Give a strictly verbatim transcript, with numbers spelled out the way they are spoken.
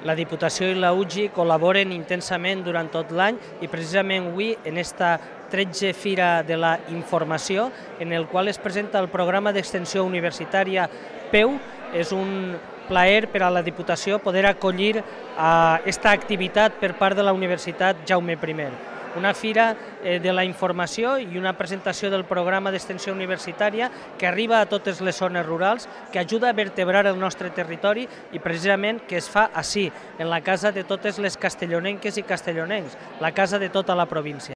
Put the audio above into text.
La Diputació i la U G I col·laboren intensament durant tot l'any i precisament avui en esta tretze Fira de la Informació, en el qual es presenta el programa d'extensió universitària P E U. És un plaer per a la Diputació poder acollir aquesta activitat per part de la Universitat Jaume primer. Una fira de la informació i una presentació del programa d'extensió universitària que arriba a totes les zones rurals, que ajuda a vertebrar el nostre territori i precisament que es fa ací, en la casa de totes les castellonenques i castellonencs, la casa de tota la província.